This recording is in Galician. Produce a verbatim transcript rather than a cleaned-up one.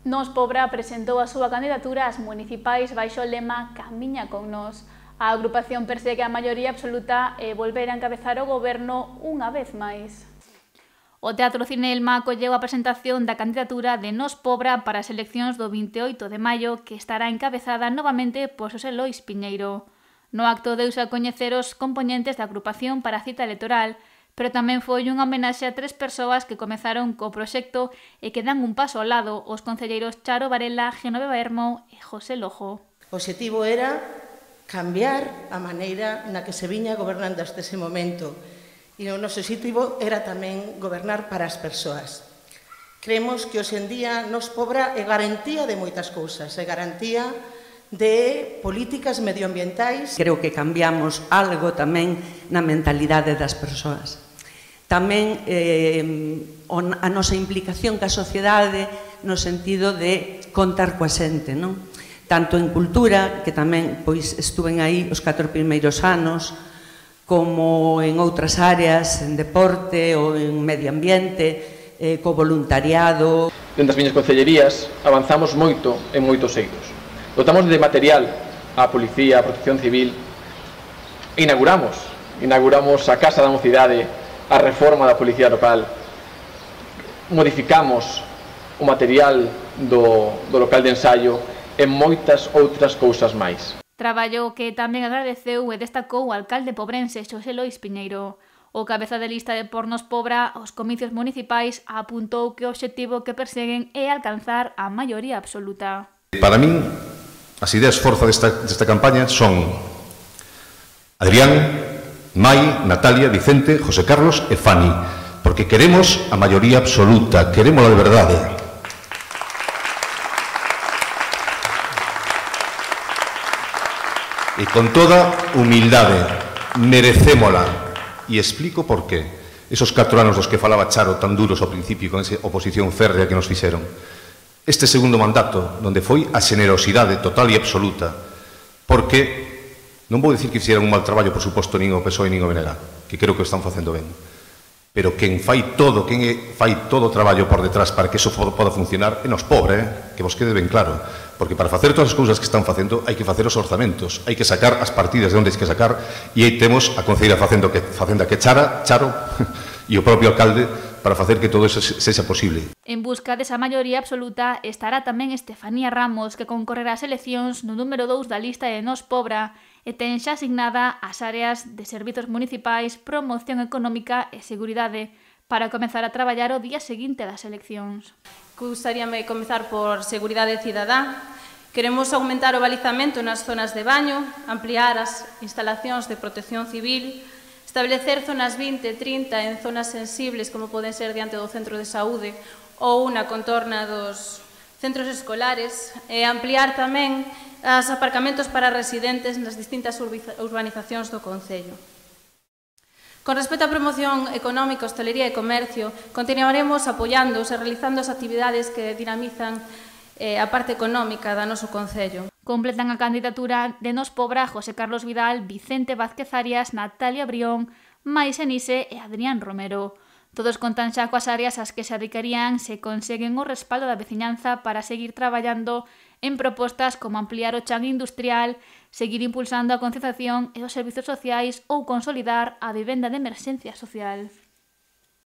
Nos Pobra presentou a súa candidatura ás municipais baixo o lema Camiña con nós. A agrupación persegue a maioría absoluta e volver a encabezar o goberno unha vez máis. O Teatro Cinelma acolleu a presentación da candidatura de Nos Pobra para as eleccións do vinte e oito de maio, que estará encabezada novamente por Xosé Lois Piñeiro. No acto deuse a coñecer os compoñentes da agrupación para a cita electoral, pero tamén foi unha homenaxe a tres persoas que comezaron co proxecto e que dan un paso ao lado, os concelleiros Charo Varela, Genoveva Hermo e José Lojo. O obxectivo era cambiar a maneira na que se viña gobernando hasta ese momento e o noso obxectivo era tamén gobernar para as persoas. Creemos que hoxe en día Nos Pobra é garantía de moitas cousas, é garantía de políticas medioambientais. Creo que cambiamos algo tamén na mentalidade das persoas. Tamén eh, a nosa implicación ca sociedade no sentido de contar coa xente, non? Tanto en cultura, que tamén pois estuven aí os catro primeiros anos, como en outras áreas, en deporte ou en medio ambiente, eh, co voluntariado. Dentro das miñas concellerías avanzamos moito en moitos eidos. Dotamos de material á Policía, á Protección Civil e inauguramos, inauguramos a Casa da Mocidade, a reforma da Policía Local, modificamos o material do, do local de ensaio e moitas outras cousas máis. Traballo que tamén agradeceu e destacou o alcalde pobrense Xosé Lois Piñeiro. O cabeza de lista de por Nos Pobra aos comicios municipais apuntou que o obxectivo que perseguen é alcanzar a maioría absoluta. Para min, as ideas forza desta, desta campaña son Adrián, Mai, Natalia, Vicente, José Carlos e Fani, porque queremos a maioría absoluta, queremos a verdade. E con toda humildade, merecémola. E explico por qué. Esos catro anos dos que falaba Charo tan duros ao principio con esa oposición férrea que nos fixeron. Este segundo mandato, donde foi a xenerosidade total e absoluta, porque non vou dicir que fixeran un mal traballo, por suposto, nin o P S O E nin o B N G, que creo que o están facendo ben, pero quen fai todo, quen fai todo o traballo por detrás para que eso poda funcionar é Nos Pobra, eh? Que vos quede ben claro, porque para facer todas as cousas que están facendo hai que facer os orzamentos, hai que sacar as partidas de onde hai que sacar, e aí temos a concelleira facendo que, facendo que Chara, Charo e o propio alcalde para facer que todo eso sexa posible. En busca desa maioría absoluta estará tamén Estefanía Ramos, que concorrerá ás eleccións no número dous da lista de Nos Pobra e ten xa asignada as áreas de servizos municipais, promoción económica e seguridade para comezar a traballar o día seguinte das eleccións. Gustaríame comezar por seguridade cidadá. Queremos aumentar o balizamento nas zonas de baño, ampliar as instalacións de protección civil, establecer zonas vinte, trinta en zonas sensibles, como poden ser diante do centro de saúde ou na contorna dos centros escolares, e ampliar tamén os aparcamentos para residentes nas distintas urbanizacións do concello. Con respecto á promoción económica, hostelería e comercio, continuaremos apoiándose e realizando as actividades que dinamizan a parte económica da noso concello. Completan a candidatura de Nos Pobra José Carlos Vidal, Vicente Vázquez Arias, Natalia Brión, Mai Senise e Adrián Romero. Todos contan xa coas áreas ás que se adicarían se conseguen o respaldo da veciñanza para seguir traballando en propostas como ampliar o chan industrial, seguir impulsando a concienciación e os servizos sociais ou consolidar a vivenda de emerxencia social.